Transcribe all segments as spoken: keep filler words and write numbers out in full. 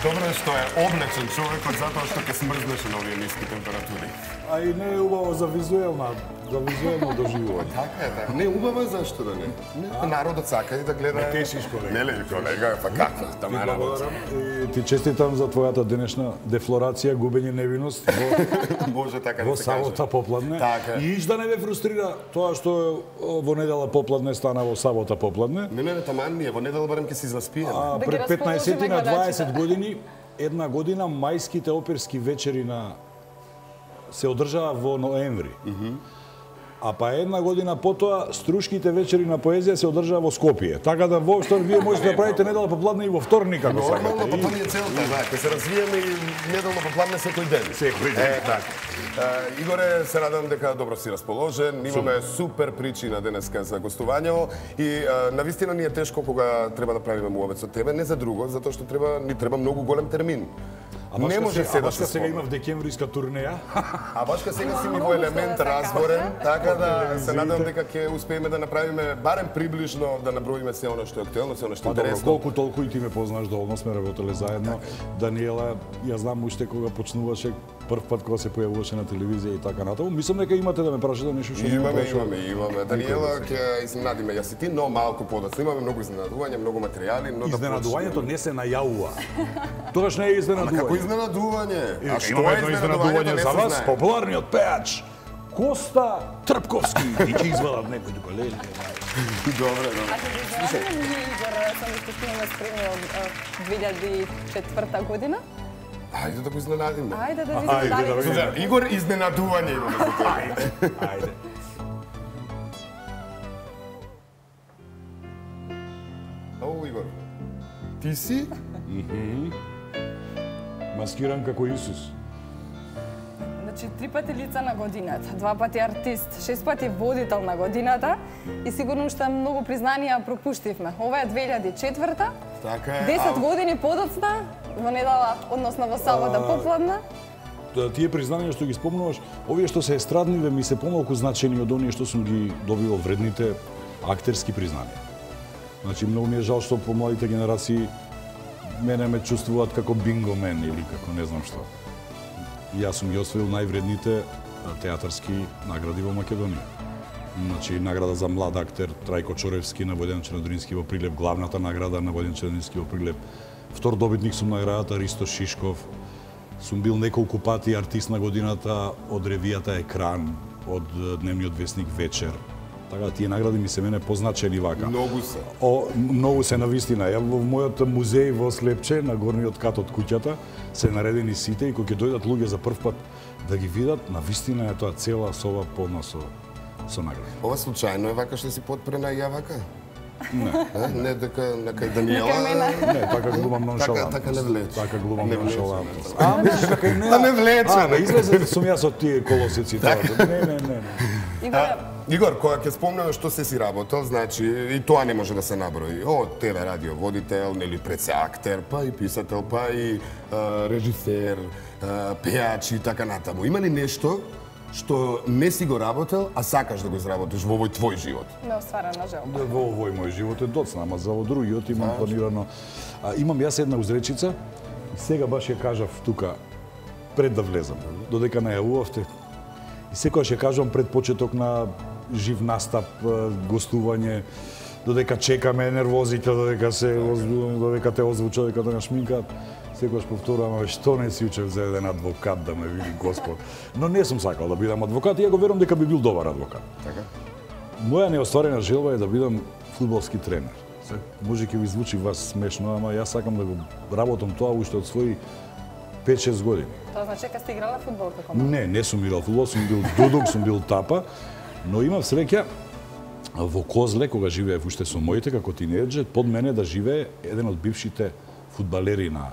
Добро е што е облечен човекот затоа што ќе смрзнеше на овие ниски температури. А и не е убаво за визуелна, за визуелно доживување. Така е, така. Не убаво е зашто да не. Народот сака и да гледа. Не тешиш, колега. Не ли, колега, па како? Тама работа. И ти честитам за твојата денешна дефлорација, губење невиност во Може така да во се каже. сабота попладне. Така. И иш да не ве фрустрира тоа што во недела попладне стана во сабота попладне. Не, не, не, таман ми е, во недела барем ќе си заспиеме. А Да ги пред петнаесет расположиме на дваесет гледачите. години, една година мајските оперски вечери на се одржаа во ноември. А па една година потоа струшките вечери на поезија се одржаа во Скопје. Така да воопшто вие можете да правите недела попладне и во вторник ако Нормално, сакате. па И- тоа ни е целта, да, ќе се развиеме и неделно попладне секој ден. Секој ден. Е, така. Е, Игоре, се радам дека добро си расположен. Имаме супер причина денеска за гостување и е, навистина ни е тешко кога треба да правиме муавет со тебе, не за друго, затоа што треба ни треба многу голем термин. Не може се да се сега има спомне. в декемвриска турнеја. А башка сега си ми во Многу елемент што да се разборен, каже. така да се телевизиите. надам дека ќе успееме да направиме барем приближно да наброиме се оно што е актуелно, се оно што е Па добро, интересно. колку толку и ти ме познаш, доволно сме работеле заедно. Даниела, ја знам уште кога почнуваше прв пат кога се појавуваше на телевизија и така натаму. Мислам дека имате да ме прашате нешто што не ме Имаме, прашувате. имаме, имаме. Даниела ќе изненадиме јас и ти, но малку подоцна. Имаме многу изненадувања, многу материјали, но да Изненадувањето не се најавува. Тогаш не е почнеме. Ма како изненадување. изненадување? А што Имаме е едно изненадувањето изненадување не за се вас, знае. популарниот пејач Коста Трпковски. И ќе извадат некој тука леле. Добре, добре. А ќе ви знаеме, ние Игор сам што снимаме спремни од две илјади и четврта година. Ајде да го изненадиме. Ајде да Ајде видиме да дали видиме. За Игор изненадување имаме за тебе. Ајде. Ау, Игор. Ти си? Маскиран како Исус. Значи, три пати лица на годината, два пати артист, шест пати водител на годината и сигурно уште многу признанија пропуштивме. Ова е две илјади и четврта, Така е. десет а- години подоцна, во недела, односно во сабота попладна. Да, тие признанија што ги спомнуваш, овие што се естрадниве ми се помалку значени од оние што сум ги добивал вредните актерски признанија. Значи, многу ми е жал што помладите генерации мене ме чувствуваат како бингомен или како не знам што. И јас сум ги освоил највредните театарски награди во Македонија. Значи, награда за млад актер Трајко Чоревски на Војден Чернодрински во Прилеп, главната награда на Војден Чернодрински во Прилеп. Втор добитник сум наградата Ристо Шишков. Сум бил неколку пати артист на годината од ревијата Екран, од дневниот весник Вечер. Така, тие награди ми се мене позначени вака. Многу се. О, многу се навистина. Ја во мојот музеј во Слепче, на горниот кат од куќата, се наредени сите и кога ќе дојдат луѓе за прв пат да ги видат, навистина е тоа цела соба полна со со награди. Ова случајно е вака што си подпрена и ја вака? Не. Е, не дека нека и Даниела. Нека и мене. Не, така глумам ноншалантност. Така- така не влече. Така глумам Не влече. ноншалантност. А, мислиш дека и не? А, не влече, А, бе, не. излезе сум јас од тие колосици тоа. Не, не, не, не. Игор, Игор, кога ќе спомнеме што се си работел, значи и тоа не може да се наброи. О, ТВ радио водител, нели пред се актер, па и писател, па и а, режисер, а, пејач и така натаму. Има ли нешто што не си го работел, а сакаш да го изработиш во овој твој живот? неостварена желба. Во овој мој живот е доцна, ама за во другиот имам планирано. А, имам јас една узречица, и сега баш ја кажав тука, пред да влезам, додека најавувавте. И секогаш ја кажувам пред почеток на жив настап, гостување, додека чекаме нервозите, додека се озвучува, додека те озвучува, додека те нашминкаат. Секогаш повторувам, што не си учев за еден адвокат да ме види Господ. Но не сум сакал да бидам адвокат и ја го верувам дека би бил добар адвокат. Така? Моја неостварена желба е да бидам фудбалски тренер. Се, може ќе ви звучи вас смешно, ама јас сакам да го работам тоа уште од своји пет-шест години. Тоа значи дека сте играла фудбал како мал. Не, не сум играл фудбал, сум бил дудук, сум бил тапа, но имав среќа во Козле, кога живеев уште со моите како тинејџер, под мене да живее еден од бившите фудбалери на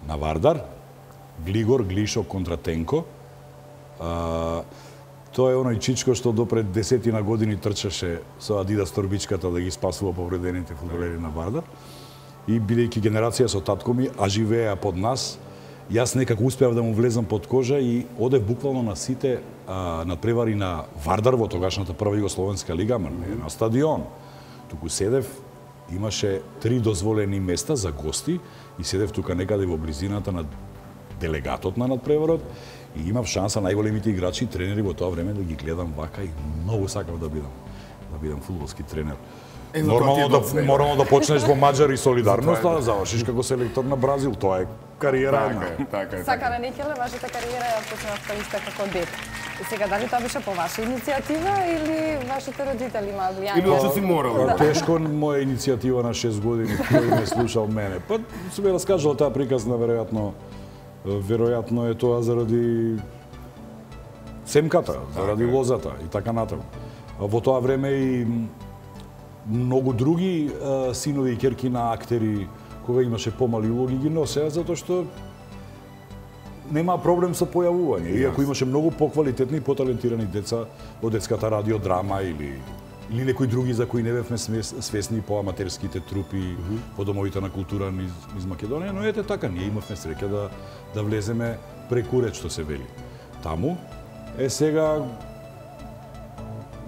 на Вардар, Глигор Глишо контра Тенко. А, тоа е оној чичко што допред десетина години трчаше со Адидас торбичката да ги спасува повредените фудбалери на Вардар. И бидејќи генерација со татко ми, а живееа под нас, јас некако успеав да му влезам под кожа и одев буквално на сите а, надпревари на Вардар во тогашната прва југословенска лига, ама не на стадион. Туку седев, имаше три дозволени места за гости и седев тука некаде во близината на делегатот на надпреварот и имав шанса најголемите играчи и тренери во тоа време да ги гледам вака и многу сакав да бидам да бидам фудбалски тренер. Е, Нормално да морално да почнеш во Маđар и Солидарност, Затоа е, да завршиш како селектор на Бразил, тоа е кариера. Така е, така е. Сакара Никеле, вашата кариера ја почнавте исто како дете. И сега дали тоа беше по ваша иницијатива или вашите родители имаа влијание? Или што си морал? Па, тешко моја иницијатива на шест години, кој ме слушал мене. Па се ме раскажал таа приказна, веројатно веројатно е тоа заради семката, заради лозата и така натаму. Во тоа време и многу други а, синови и ќерки на актери, кога имаше помали улоги, ги носеа, затоа што нема проблем со појавување. Иако имаше многу поквалитетни и поталентирани деца од детската радиодрама или или некои други за кои не бевме свесни по аматерските трупи mm -hmm. по домовите на култура низ, низ Македонија, но ете така, ние имавме среќа да, да влеземе преку ред, што се вели. Таму, е сега,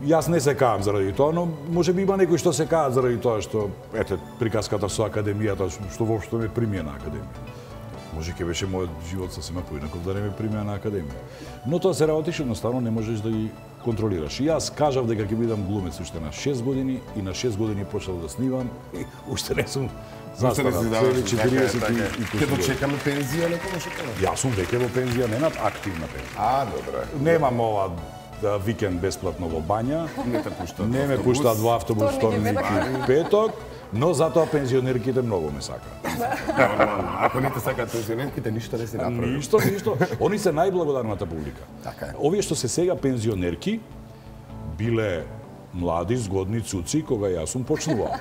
јас не се каам заради тоа, но може би има некои што се каат заради тоа што, ете, приказката со академијата, што воопшто ме примија на академија. Може ќе беше мојот живот сосема поинаков да не ме примија на академија. Но тоа се работи што едноставно не можеш да ги контролираш. И јас кажав дека ќе бидам глумец уште на шест години и на шест години почнав да снимам и уште не сум застарал. четириесет Ќе дочекаме пензија некогаш од тоа? Јас сум веќе во пензија, не над активна пензија. А, добре. Немам ова да, викенд бесплатно во бања. Не те пуштаат. Не ме пуштаат во автобус вторник и петок. Но затоа пензионерките многу ме сакаат. Ако не те сакаат пензионерките, ништо не си направи. Ништо, ништо. Они се најблагодарната публика. Така е. Овие што се сега пензионерки биле млади, згодни цуци кога јас сум почнувал.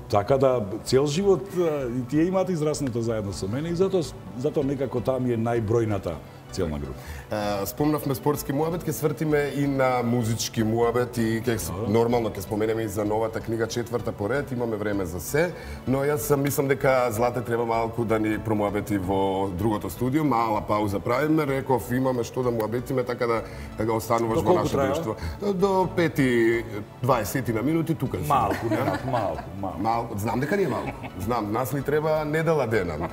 Така да цел живот и тие имаат израснато заедно со мене и затоа затоа некако таа ми е најбројната целна група. Uh, спомнавме спортски муабет, ќе свртиме и на музички муабет и ќе нормално ќе споменеме и за новата книга четврта поред, имаме време за се, но јас сам мислам дека Злате треба малку да ни промуабети во другото студио, мала пауза правиме, реков имаме што да муабетиме така да, да го остануваш во наше друштво. До пет и дваесет на минути тука. Малку, не, малку, малку. Малку, знам дека не е малку. Знам, нас ни треба недела дена.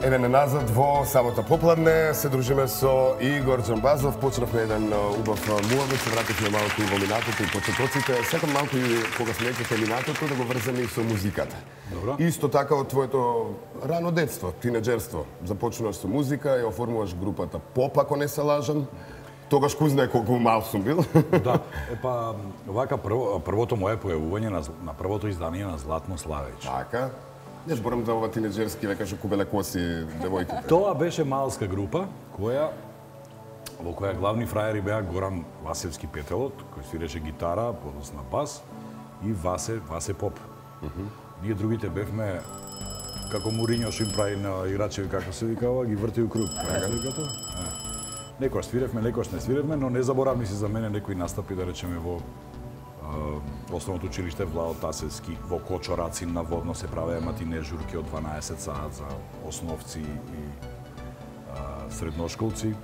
Еве назад во самото попладне се дружиме со Игор Џамбазов. Почнавме еден убав муабет, се вративме малку во минатото и почетоците. Сакам малку и кога смеќате минатото да го врземе и со музиката. Добро. Исто така од твоето рано детство, тинеџерство. Започнуваш со музика и оформуваш групата Поп, ако не се лажам. Тогаш кој знае колку мал сум бил. Да, епа вака прво, првото мое појавување на, на првото издание на Златно Славеќ. Така. Не зборам за ова тинеџерски, века што кубеле коси девојките. Тоа беше малска група која во која главни фраери беа Горан Васевски Петелот, кој свиреше гитара, подосна бас, и Васе Васе Поп. Uh -huh. Ние другите бевме како Муриньо што им прави на играчеви, како се викава, ги врти у круг. Така се вика тоа? Некојаш свиревме, некојаш не свиревме, но незаборавни се за мене некои настапи, да речеме, во основното училиште Владо Тасевски, во Кочорацин на Водно се правеа матине журки од дванаесет саат за основци и а, средношколци,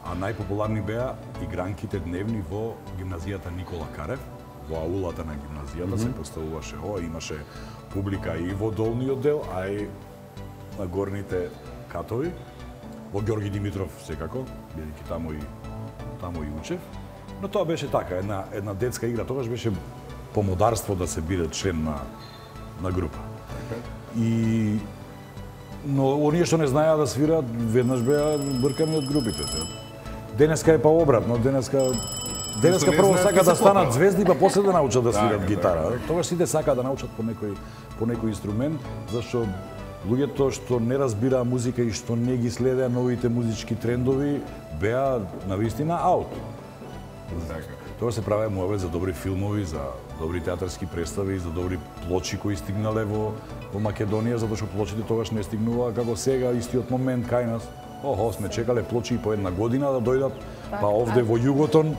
а најпопуларни беа игранките дневни во гимназијата Никола Карев, во аулата на гимназијата. Mm -hmm. Се поставуваше, о, имаше публика и во долниот дел, а и на горните катови, во Ѓорги Димитров секако, бидејќи таму и таму и учев. Но тоа беше така, една, една детска игра. Тогаш беше помодарство да се биде член на, на група. И... Но оние што не знаеа да свираат, веднаш беа бркани од групите. Денеска е па обратно, денеска... Денеска прво сака да станат звезди, па после да научат да свират гитара. Тогаш сите сака да научат по некој, по некој инструмент, зашто луѓето што не разбираа музика и што не ги следеа новите музички трендови, беа навистина аут. Тоа се правеа муабет за добри филмови, за добри театарски представи, за добри плочи кои стигнале во, во Македонија, затоа што плочите тогаш не стигнуваа како сега, истиот момент кај нас. Охо, сме чекале плочи по една година да дојдат, па овде во Југотон,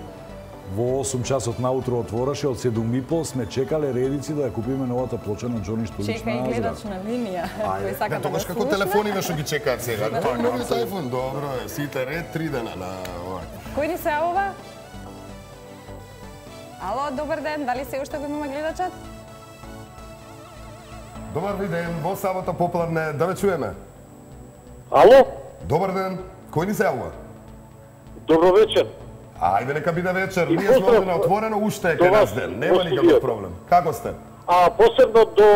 во осум часот наутро отвораше, од седум и пол сме чекале редици да ја купиме новата плоча на Џони Штулич. Чека и гледач на линија, кој сака да го тогаш како телефониве што ги чекаат сега. Тоа новиот iPhone, добро е, сите ред, три дена на ова. Кој ни се јавува? Ало, добар ден, дали се уште го имаме гледачат? Добар ви ден, во сабота попладне, да ве чуеме. Ало? Добар ден, кој ни се јавува? Добро вечер. Ајде, нека биде вечер, И ние сме поздрав овде на отворено, уште е до кај нас вас, ден, нема во никаков студиото. проблем. Како сте? А посебно до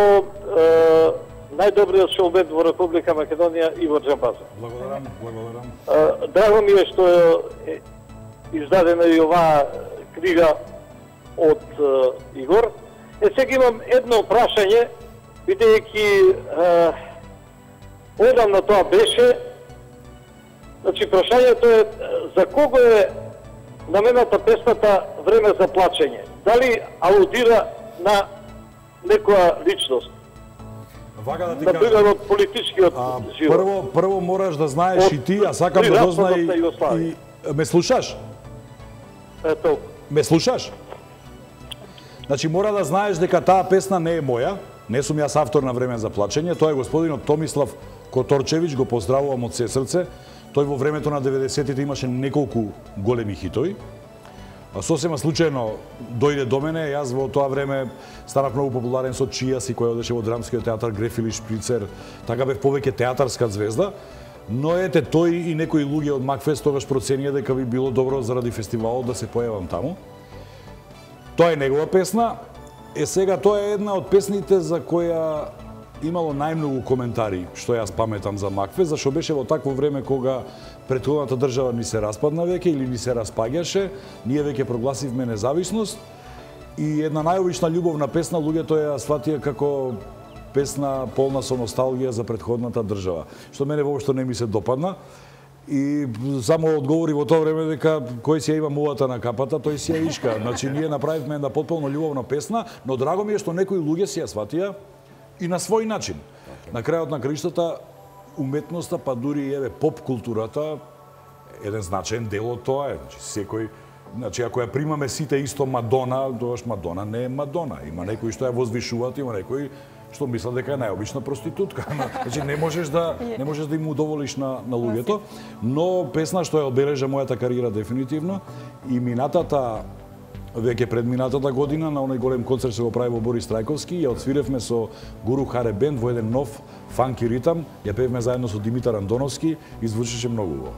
е, најдобриот шоумен во Република Македонија Игор Џамбазов. Благодарам, благодарам. Е, Драго ми е што е издадена и оваа книга од е, Игор. Е, сега имам едно прашање, бидејќи одамна тоа беше. Значи, прашањето е за кого е намената песната Време за плачење? Дали алудира на некоја личност? Вака да ти Например, кажам. од политичкиот А, живот. прво, прво мораш да знаеш Од и ти, а сакам при да распадот дознај на Југославија. и ме слушаш? Ето, Ме слушаш? Значи мора да знаеш дека таа песна не е моја, не сум јас автор на Време за плачење, тоа е господинот Томислав Которчевиќ, го поздравувам од се срце. Тој во времето на деветдесетите имаше неколку големи хитови. А сосема случајно дојде до мене, јас во тоа време станав многу популарен со Чијас и кој одеше во драмскиот театар Грефили Шприцер, така бев повеќе театарска звезда. Но ете, тој и некои луѓе од Макфест тогаш проценија дека би било добро заради фестивалот да се појавам таму. Тоа е негова песна. Е сега тоа е една од песните за која имало најмногу коментари што јас паметам за Макфест, зашто беше во такво време кога претходната држава ни се распадна веќе или ни се распаѓаше, ние веќе прогласивме независност и една најобична љубовна песна луѓето ја сватија како песна полна со носталгија за претходната држава, што мене воопшто не ми се допадна. И само одговори во тоа време дека кој си ја има мувата на капата, тој си ја ишка. Значи ние направивме една потполно љубовна песна, но драго ми е што некои луѓе си ја сватија и на свој начин. На крајот на краиштата уметноста, па дури и еве поп културата еден значаен дел од тоа е. Значи секој, значи ако ја примаме сите исто Мадона, тогаш Мадона не е Мадона. Има некои што ја возвишуваат, има некои што мислат дека е најобична проститутка. Значи не можеш да не можеш да им удоволиш на на луѓето, но песна што ја одбележа мојата кариера дефинитивно и минатата веќе пред минатата година на оној голем концерт се го прави во Борис Трајковски, ја отсвиревме со Гуру Харе Бенд во еден нов фанки ритам, ја пеевме заедно со Димитар Андоновски и звучеше многу убаво.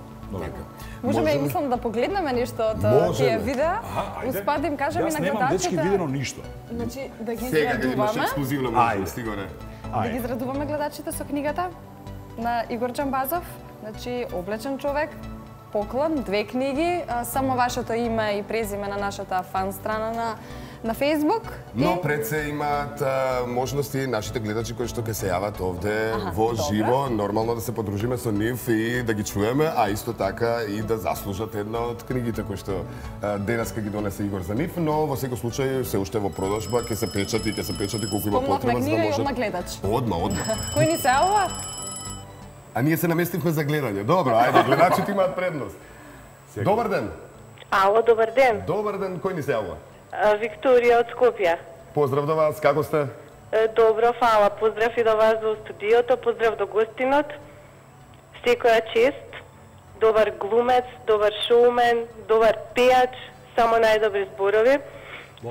Можеме и мислам да погледнеме нешто од тие видеа. Успадим кажам и на гледачите. Јас немам дечки видено ништо. Значи да ги Сега ќе имаш израдуваме. ексклузивна Ајде. можност, Игоре. Да ги израдуваме гледачите со книгата на Игор Џамбазов. Значи облечен човек, поклон, две книги, а, само вашето име и презиме на нашата фан страна на на Facebook. Но и... пред се имаат а, можности нашите гледачи кои што ќе се јават овде Аха, во добре. живо, нормално да се подружиме со нив и да ги чуеме, а исто така и да заслужат една од книгите кои што а, денеска ги донесе Игор за нив, но во секој случај се уште во продажба, ќе се печати, ќе се печати колку има Спомнавме потреба за да книга и можат. одма гледач. Одма, одма. Кој ни се јавува? А ние се наместивме за гледање. Добро, ајде, гледачите имаат предност. Добар ден. Ало, добар ден. Добар ден, кој ни се јавува? А, Викторија од Скопје. Поздрав до вас, како сте? Е, Добро, фала. Поздрав и до вас во студиото, поздрав до гостинот. Секоја чест. Добар глумец, добар шоумен, добар пејач, само најдобри зборови.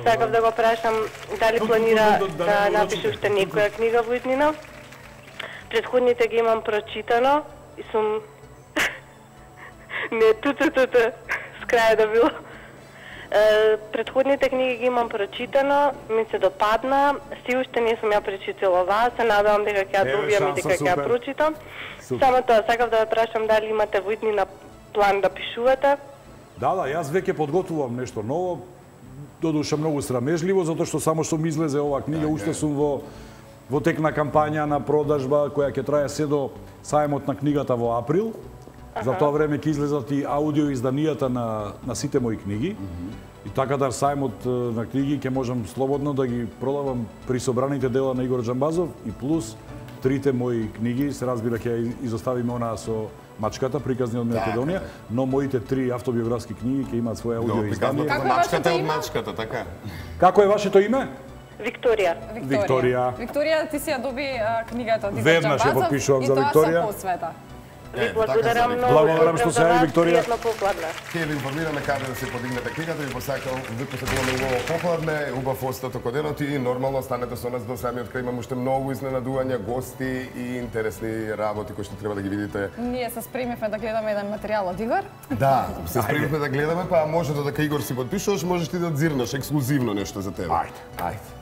Сакав да го прашам дали планира да напише уште некоја книга во иднина. Предходните ги имам прочитано и сум... Не, ту-ту-ту-ту, с краја да било. Е, Предходните книги ги имам прочитано, ми се допадна, си уште не сум ја прочитала оваа, се надевам дека ќе ја Еве, добијам и шанса, дека ќе ја супер. прочитам. Супер. Само тоа, сакав да ве прашам дали имате во иднина план да пишувате. Да, да, јас веќе подготвувам нешто ново, додуша многу срамежливо, затоа што само што ми излезе оваа книга, уште сум во во тек на кампања на продажба која ќе трае се до сајмот на книгата во април. За тоа време ќе излезат и аудио изданијата на на сите мои книги. И така да сајмот е, на книги ќе можам слободно да ги продавам при собраните дела на Игор Џамбазов и плюс трите мои книги, се разбира ќе изоставиме онаа со Мачката, приказни од Македонија, но моите три автобиографски книги ќе имаат своја аудио издание. Како е Мачката вашето од име? мачката, така? Како е вашето име? Викторија. Викторија. Викторија, ти си ја доби а, книгата од Игор Веднаш ја Џамбазов потпишувам за и тоа Викторија. со посвета. Ви Е, благодарам така многу. Благодарам што се јави, Викторија. Пријатно попладне. Ке ви информираме каде да се подигнете книгата, ви посакам, ви посакуваме убаво попладне, убав остаток од денот и нормално останете со нас до самиот крај. Имаме уште многу изненадувања, гости и интересни работи кои што треба да ги видите. Ние се спремивме да гледаме еден материјал од Игор. Да, се спремивме да гледаме, па може додека Игор си подпишуваш, можеш ти да дзирнеш ексклузивно нешто за тебе. Ајде, ајде.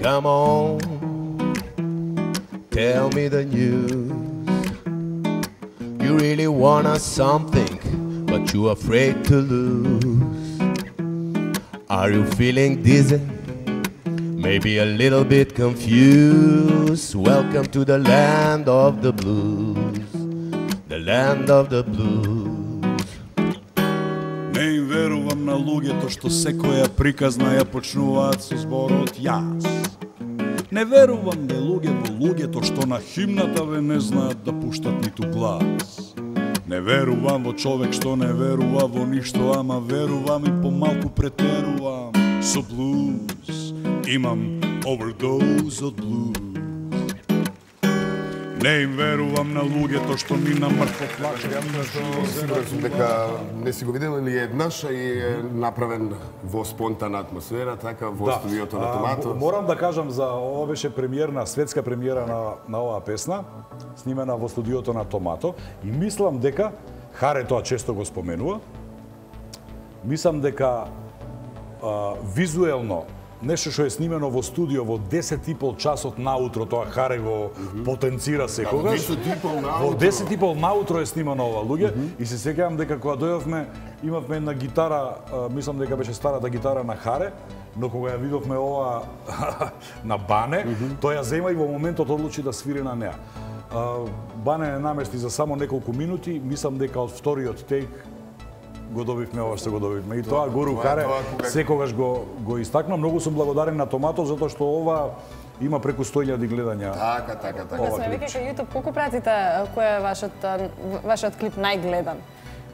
Come on, tell me the news. You really want us something, but you're afraid to lose. Are you feeling dizzy? Maybe a little bit confused. Welcome to the land of the blues, the land of the blues. Не им верувам на луѓето што секоја приказна ја почнуваат со зборот јас. Не верувам бе луѓе во луѓето што на химната ве не знаат да пуштат ниту глас. Не верувам во човек што не верува во ништо, ама верувам и помалку претерувам со блуз. Имам overdose од блуз. Не им верувам на луѓето што ми на мртво плачат. Сигурен сум дека не си го видел или еднаш и е направен во спонтана атмосфера, така во студиото на Томато. Морам да кажам за ова беше премиерна, светска премиера на, на оваа песна, снимена во студиото на Томато и мислам дека, Харе тоа често го споменува, мислам дека а, визуелно нешто што е снимено во студио во десет и пол часот наутро, тоа Харе го потенцира секогаш. Во десет и пол наутро е снимано ова, луѓе, и се сеќавам дека кога дојдовме, имавме една гитара, мислам дека беше старата гитара на Харе, но кога ја видовме ова на Бане, тој ја зема и во моментот одлучи да свири на неа. Бане не намести за само неколку минути, мислам дека од вториот тейк го добивме ова што го добивме. И тоа Гуру Харе секогаш го го истакна. Многу сум благодарен на Томато затоа што ова има преку сто илјади гледања. Така, така, така. Да сме веќе кај YouTube, колку пратите, кој е вашиот вашиот клип најгледан?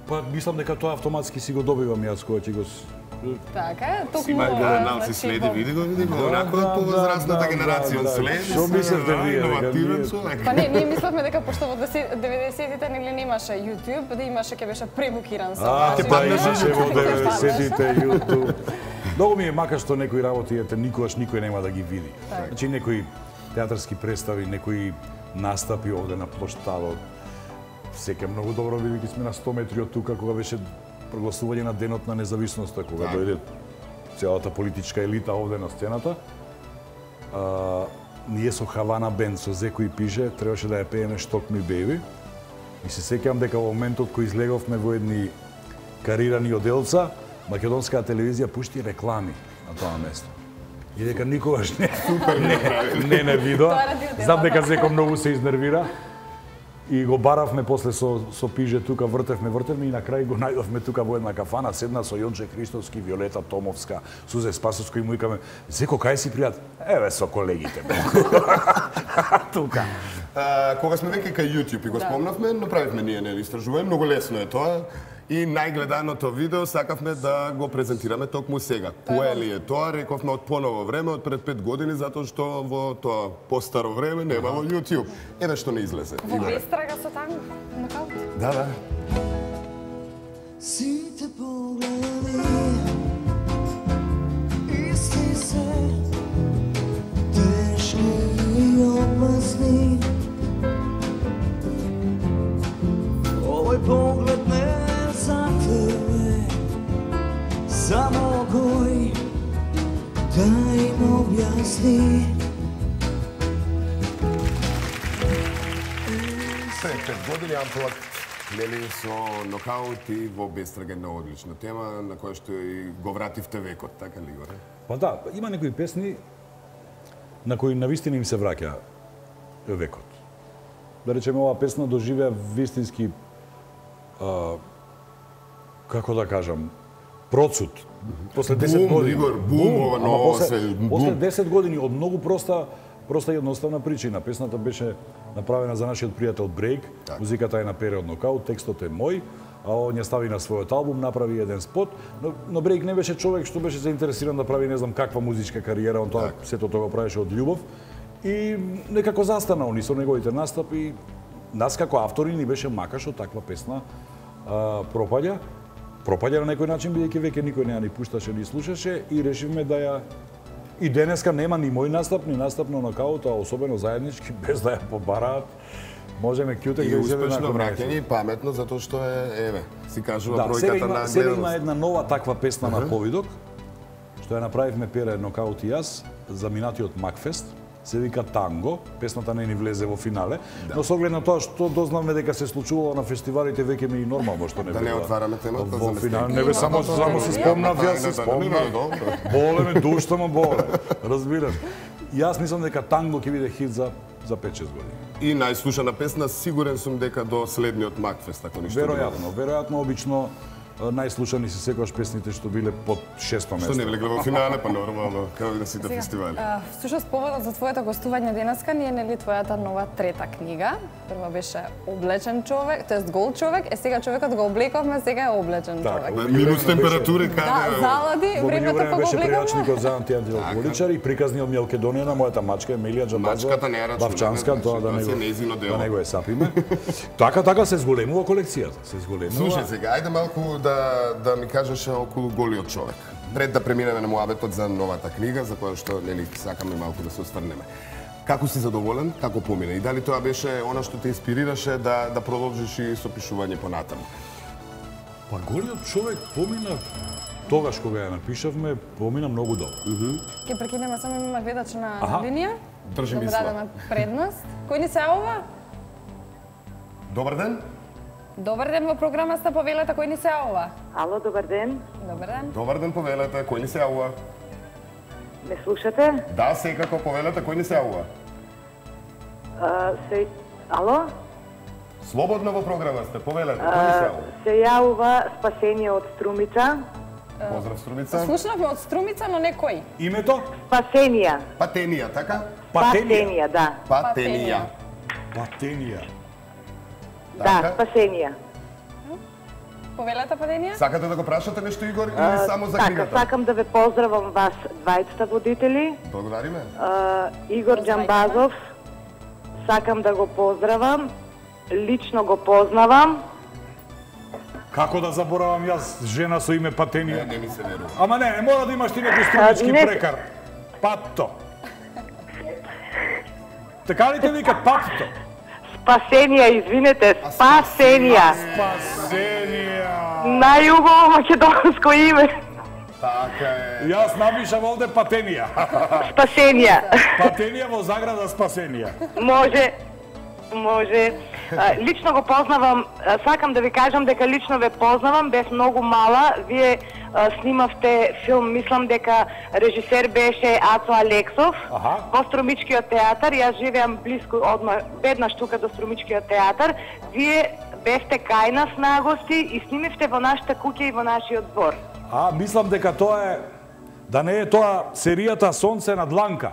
Па мислам дека тоа автоматски си го добивам јас кога ќе го Така е, токму... Си најгледаналци следи, види го, види го, онако е повозрастната генерација следи. Што мислите вие? Иновативен човек. Па не, ние мислевме дека пошто во деветдесетите нели немаше YouTube, да имаше ќе беше пребукиран со. А, ќе па паднеш имаше во YouTube. деветдесетите YouTube. Многу ми е мака што некои работи ете никогаш никој нема да ги види. Значи некои театарски представи, некои настапи овде на плоштадот. Сека многу добро бидејќи сме на сто метри од тука кога беше прогласување на денот на независноста, кога дојде целата политичка елита овде на сцената. А, ние со Хавана Бенд, со Зеко и Пиже, требаше да ја пееме Шток ми беби. И се сеќавам дека во моментот кој излеговме во едни карирани оделца, македонската телевизија пушти реклами на тоа место. И дека никогаш не не не, не видоа. Знам дека Зеко многу се изнервира. И го баравме после со со Пиже тука, вртевме, вртевме и на крај го најдовме тука во една кафана, седна со Јонче Христовски, Виолета Томовска, Сузе Спасовска и му викаме: "Зеко, кај си пријат?" "Еве со колегите." Тука. А, кога сме веќе кај YouTube и го спомнавме, направивме ние нели истражување, многу лесно е тоа. И најгледаното видео сакавме да го презентираме токму сега. Кое ли е тоа? Рековме од поново време, од пред пет години, затоа што во тоа постаро време немало YouTube. Еве што не излезе. Во Бестрага со танго, нокаут. Да, да. Сите погледи исти се, тешки и опасни. Овој поглед не за тебе, само кој да им објасни. Пред пет години Амплак, нели со нокаут и во Бестрага една одлична тема на која што и го вративте векот, така ли горе? Па да, има некои песни на кои навистина им се враќа векот. Да речеме, оваа песна доживеа вистински а, како да кажам, процут. После десет Бум, години. Игор, бум, ова ама ново после, се, бум. после десет години од многу проста проста и едноставна причина. Песната беше направена за нашиот пријател Брейк, Так. музиката е на Период Нокаут, текстот е мој, а он ја стави на својот албум, направи еден спот, но, но Брейк не беше човек што беше заинтересиран да прави не знам каква музичка кариера, он тоа Так. сето тоа го правеше од љубов и некако застана он и со неговите настапи. Нас како автори ни беше мака што таква песна а, пропаѓа. Пропаѓа на некој начин, бидејќи веќе никој не ја ни пушташе, ни слушаше и решивме да ја... И денеска нема ни мој настап, ни настап на Нокаут, а особено заеднички, без да ја побараат. Можеме кјутек И да изеде успешно на враќање и паметно, затоа што е, еве, си кажува Да, сега бројката има, на сега има гледаност. една нова таква песна на Повидок, што ја направивме Пера Нокаут и јас за минатиот Макфест. Се вика Танго, песната не ни влезе во финале, но со оглед на тоа што дознавме дека се случувало на фестивалите, веќе ми и нормално што не Да бе не отвараме темата во за финале. мистеки. Не бе само само се спомнав, јас се Тајната, не, не, спомнав. добро. Боле ме душта, ма боле. Разбираш. Јас мислам дека Танго ќе биде хит за за пет-шест години. И најслушана песна, сигурен сум дека до следниот Макфест, ако ништо друго. Веројатно, веројатно обично најслушани се секогаш песните што биле под шесто место. Што не влегле во финале, па нормално, како и на сите фестивали. А, Всушност поводот за твоето гостување денеска ни е нели твојата нова трета книга. Прва беше Облечен човек, тоест гол човек, е сега човекот го облековме, сега е облечен Така, човек. Минус температури, Да, каде? залади, Во времето меѓувреме па го беше облековме. прејачникот за антиантиалкохоличар и приказни од Мелкедонија на мојата мачка Емилија Џамбазова. Мачката не ја рачунаме, Бавчанска, значи, тоа да тоа не се го нејзино дело. да не го е сапиме. Така така се зголемува колекцијата, се зголемува. Слушај сега, ајде малку да, да ми кажеш околу голиот човек. Пред да преминеме на муабетот за новата книга, за која што нели сакаме малку да се осврнеме. Како си задоволен, како помина? И дали тоа беше она што те инспирираше да, да продолжиш и со пишување понатаму? Па голиот човек помина тогаш кога ја напишавме, помина многу добро. Ќе прекинеме, само има гледач на Аха. линија. Држи Да му мисла. дадеме предност. Кој ни се јавува? Добар ден. Добар ден во програмата Повелете, кој ни се јавува? Ало, добар ден. Добар ден. Добар ден, повелете, кој ни се јавува? Ме слушате? Да, секако, повелете, кој ни се јавува? А, се... Ало? Слободно во програма сте, повелете, кој ни се А, јавува? се јавува Спасение од Струмица. Поздрав, Струмица. Слушнавме од Струмица, но не кој. Името? Спасенија. Патенија, така? Спасенија, да. Патенија. Патенија. Да, Така. Спасенија. Повелете, Паденија? Сакате да го прашате нешто, Игор, или само за Така, книгата? сакам да ве поздравам вас двајцата водители. Благодариме. А, Игор Џамбазов, сакам да го поздравам. Лично го познавам. Како да заборавам јас жена со име Не, Патенија? не ми се верува. Ама не, не мора да имаш ти некој струмички А, не. прекар. Патто. Така ли те вика Патто? Спасенија, извинете, Спасенија. Спасенија. Најубаво македонско име. Така е. Јас напишам овде Патенија. Спасенија. Патенија во заграда Спасенија. Може, може. А, Лично го познавам, а, сакам да ви кажам дека лично ве познавам, бев многу мала. Вие а, снимавте филм, мислам дека режисер беше Ацо Алексов, Аха. во Струмичкиот театар. Јас живеам близко одма, бедна штука до Струмичкиот театар. Вие бевте кај нас на гости и снимивте во нашата куќа и во нашиот двор. А, мислам дека тоа е, да не е тоа серијата Сонце на дланка.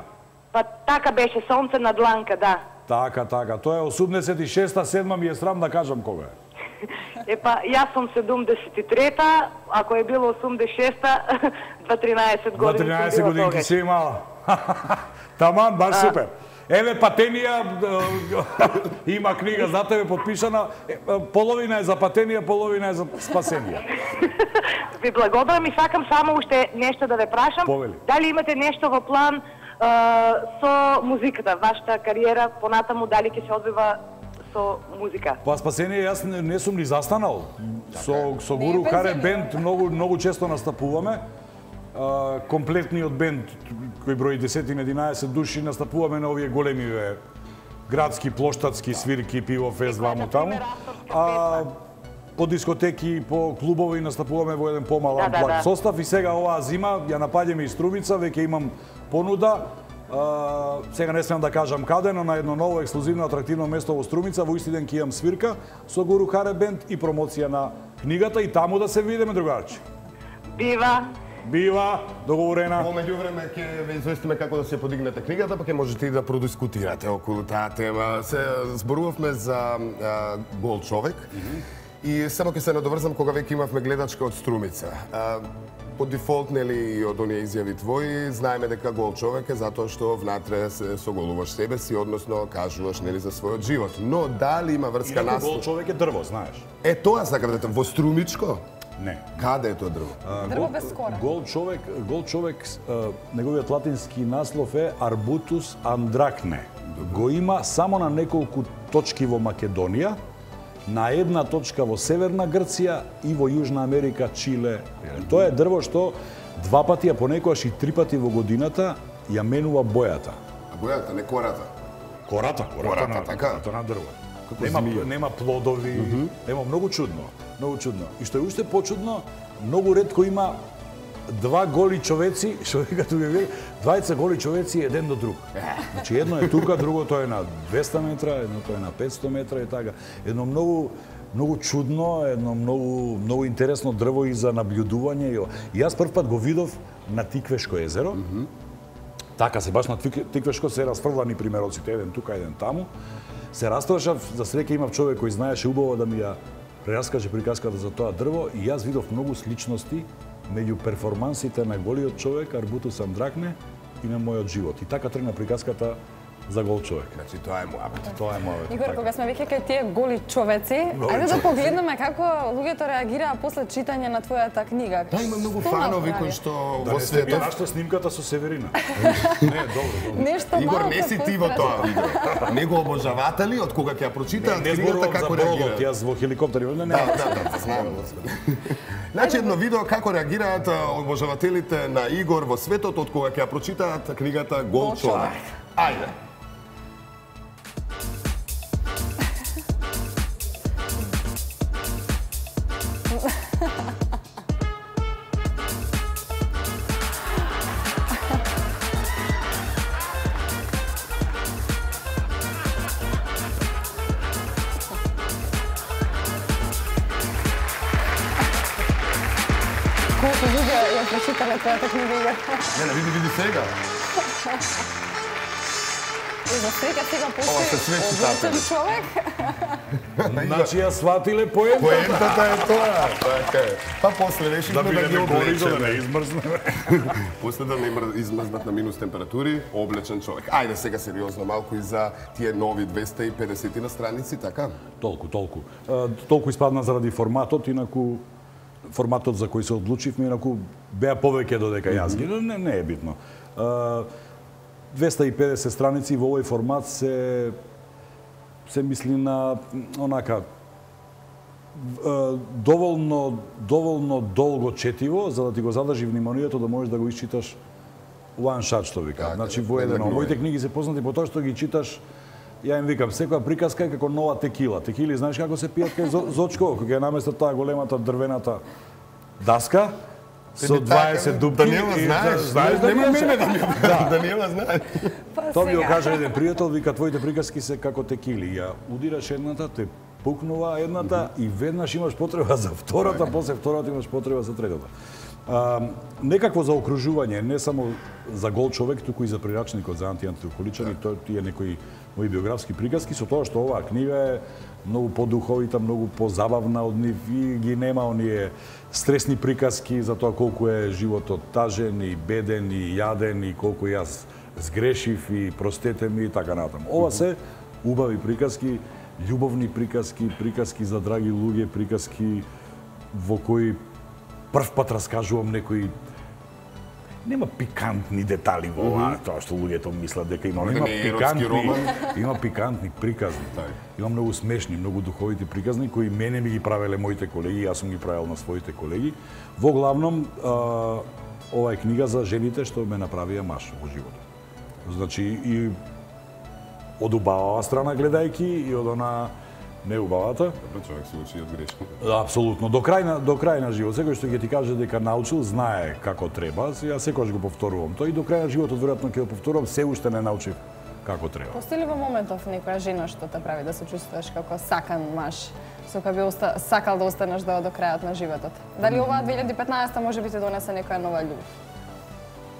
Па така беше, Сонце на дланка, да. Така, така. Тоа е осумдесет и шеста, седма ми е срам да кажам кога е. Епа, јас сум седумдесет и трета, ако е било осумдесет и шеста, дваесет Два години тринаесет сум била годинки тогаш. си имала. Таман, баш супер. Еве Патенија е, има книга за тебе подпишана. Е, е, половина е за Патенија, половина е за Спасенија. Ви благодарам и сакам само уште нешто да ве прашам. Повели. Дали имате нешто во план е, со музиката, вашата кариера понатаму, дали ќе се одвива со музика? Па Спасенија јас не, не сум ни застанал. Со со Не е Гуру Харе пензионер. бенд многу многу често настапуваме. А, комплетниот бенд кој брои десет-единаесет души настапуваме на овие големи бе, градски плоштадски свирки, пиво фест ваму таму. А по дискотеки, по клубови настапуваме во еден помалан Да, да, плак да. состав и сега оваа зима ја напаѓаме и Струмица, веќе имам понуда. А, сега не смеам да кажам каде, но на едно ново ексклузивно атрактивно место во Струмица, во исти ден ќе имам свирка со Гуру Харе бенд и промоција на книгата и таму да се видиме, другарче. Бива. бива договорена. Во меѓувреме ќе ве известиме како да се подигнете книгата, па ќе можете и да продискутирате околу таа тема. Се зборувавме за а, Гол човек. Mm -hmm. И само ќе се надоврзам кога веќе имавме гледачка од Струмица. А, по дефолт, нели, и од оние изјави твои, знаеме дека Гол човек е затоа што внатре се соголуваш себе си, односно кажуваш, нели, за својот живот. Но дали има врска Инаку нас... Гол човек е дрво, знаеш. Е, тоа сакам да те... Во Струмичко? Не. Каде е тоа дрво? А, Дрво гол, без кора. Гол човек, гол човек, а, неговиот латински наслов е Arbutus andracne. Го има само на неколку точки во Македонија, на една точка во Северна Грција и во Јужна Америка, Чиле. Тоа е дрво што два пати, а понекогаш и три пати во годината ја менува бојата. А бојата, не кората. Кората, кората, Кората, на, така? кората на дрво. Нема, нема плодови, mm -hmm. нема многу чудно, многу чудно. И што е уште почудно, многу ретко има два голи човеци, што вика тука вели, двајца голи човеци еден до друг. Значи едно е тука, другото е на двеста метра, едното е на петсто метра и така. Едно многу многу чудно, едно многу многу интересно дрво и за наблюдување. И јас прв пат го видов на Тиквешко езеро. Mm -hmm. Така се баш на Тиквешко се расфрлани примероците, еден тука, еден таму. Се растрашав, за среќа имав човек кој знаеше убаво да ми ја прераскаже приказката за тоа дрво и јас видов многу сличности меѓу перформансите на голиот човек Arbutus andracne и на мојот живот. И така тргна приказката за Гол човек. Значи тоа е мојот. Тоа е мојот. Игор, кога сме веќе кај тие голи човеци, ајде да погледнеме како луѓето реагираа после читање на твојата книга. Да, има многу Што фанови направи? кои што Да во не сте ги светот... нашла снимката со Северина. Не, добро, добро. Нешто Игор, малку не си ти во пострашно. тоа видео. Него обожаватели, од кога ќе ја прочитаат Не книгата зборувам за како бродот, реагираат. јас во хеликоптери, не, не. Да, да, да, знаем, господи. Значи едно видео како реагираат а, обожавателите на Игор во светот од кога ќе ја прочитаат книгата Гол Гол човек. човек. Ајде. Колку луѓе ја прочитале твојата книга, Игор? Не, не, види, види сега. И за среќа сега Ова се све постои цитати. облечен човек. Значи ја сватиле поентата. Поентата е тоа. Така е. Па после Да решивме да ги бидеме гори за да не облечеме. измрзнеме. После да не мр- измрзнат на минус температури, облечен човек. Ајде сега сериозно малку и за тие нови двеста и педесет на страници, така? Толку, толку. А, толку испадна заради форматот, инаку форматот за кој се одлучивме, инаку беа повеќе додека јас ги, но не, не е битно. А, двеста и педесет страници во овој формат се се мисли на онака а, доволно доволно долго четиво за да ти го задржи вниманието да можеш да го исчиташ one shot што вика. Така, Значи во една еден. глава. Моите книги се познати по тоа што ги читаш. Ја им викам, секоја приказка е како нова текила. Текили, знаеш како се пијат кај Зо- Зочко, кога ја наместат таа големата дрвената даска со дваесет дупки. Даниела, и- знаеш, знаеш нема Даниела? мене да ми Да. Даниела знае. Па Тоа ми го сега. кажа еден пријател, вика, твоите приказки се како текили. Ја удираш едната, те пукнува едната и веднаш имаш потреба за втората, после втората имаш потреба за третата. А, некакво заокружување, не само за Гол човек, туку и за прирачникот за антиантиалкохоличани, тоа тие некои мои биографски приказки, со тоа што оваа книга е многу подуховита, многу позабавна од нив и ги нема оние стресни приказки за тоа колку е животот тажен и беден и јаден и колку јас сгрешив и простете ми и така натаму. Ова се убави приказки, љубовни приказки, приказки за драги луѓе, приказки во кои прв пат раскажувам некои нема пикантни детали во ова, тоа што луѓето мислат дека има, но Да има не е еротски пикантни, роман. има пикантни приказни. Има многу смешни, многу духовити приказни кои мене ми ги правеле моите колеги, јас сум ги правел на своите колеги. Во главном, а, ова е книга за жените што ме направија маж во животот. Значи и од убавава страна гледајки и од она неубавата. Човек се учи од грешки. Апсолутно. До крај на до крај на живот, секој што ќе ти каже дека научил, знае како треба. Јас секогаш го повторувам тоа и до крај на животот веројатно ќе го повторувам, се уште не научив како треба. Постои ли во моментов некоја жена што те прави да се чувствуваш како сакан маж со која би оста... сакал да останеш до, до крајот на животот? Дали оваа две илјади и петнаесета може би ти донесе некоја нова љубов?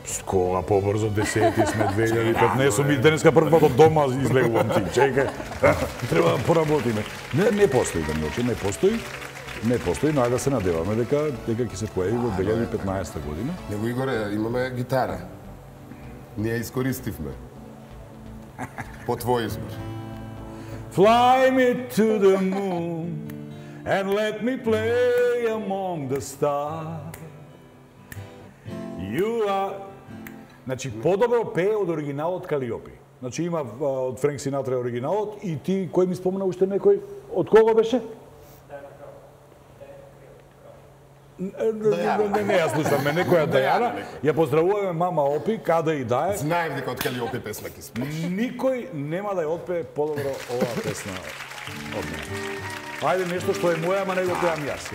Скола побрзо, десети сме две илјади и петнаесета, ми денеска прв пат од дома излегувам ти, чекај, треба да поработиме. Не, не постои да ми очи, не постои, не постои, но ајде да се надеваме дека дека ќе се појави во две илјади и петнаесета година. Него Игоре, имаме гитара. Ние искористивме. По твој избор. Fly me to the moon and let me play among the stars. You are... Значи, подобро пее од оригиналот Калиопи. Значи, има од Френк Синатра оригиналот и ти, кој ми спомена уште некој, од кого беше? Не, не, не, јас слушам, ме некоја Дајана. Ја поздравуваме мама Опи, каде и да е. Знаев дека од Калиопи песна ќе спееш. Никој нема да ја отпее подобро оваа песна од мене. Ајде нешто што е моја, ама не го пеам јас.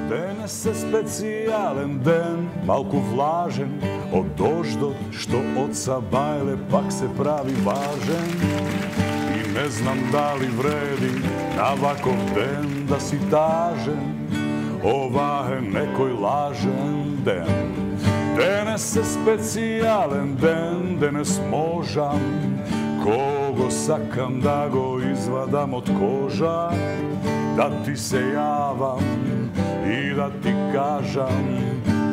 Денес е специјален ден, малку влажен, од дождот што од Сабајле пак се прави важен. И не знам дали вреди на ваков ден да си тажен, ова е некој лажен ден. Денес е специјален ден, денес можам кого сакам да го извадам од кожа, да ти се јавам и да ти кажам,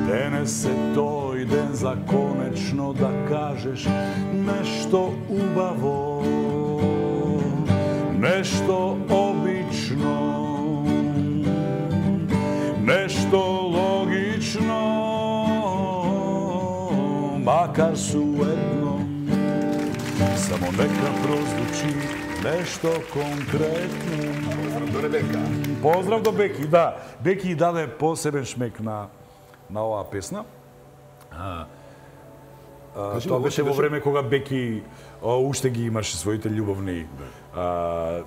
денес е тој ден за конечно да кажеш нешто убаво, нешто обично, нешто логично, макар суетно, само нека прозвучи нешто конкретно. Поздрав до Ребека. Поздрав до Беки, да. Беки даде посебен шмек на на оваа песна. А, а, тоа беше во време кога Беки а, уште ги имаше своите љубовни а,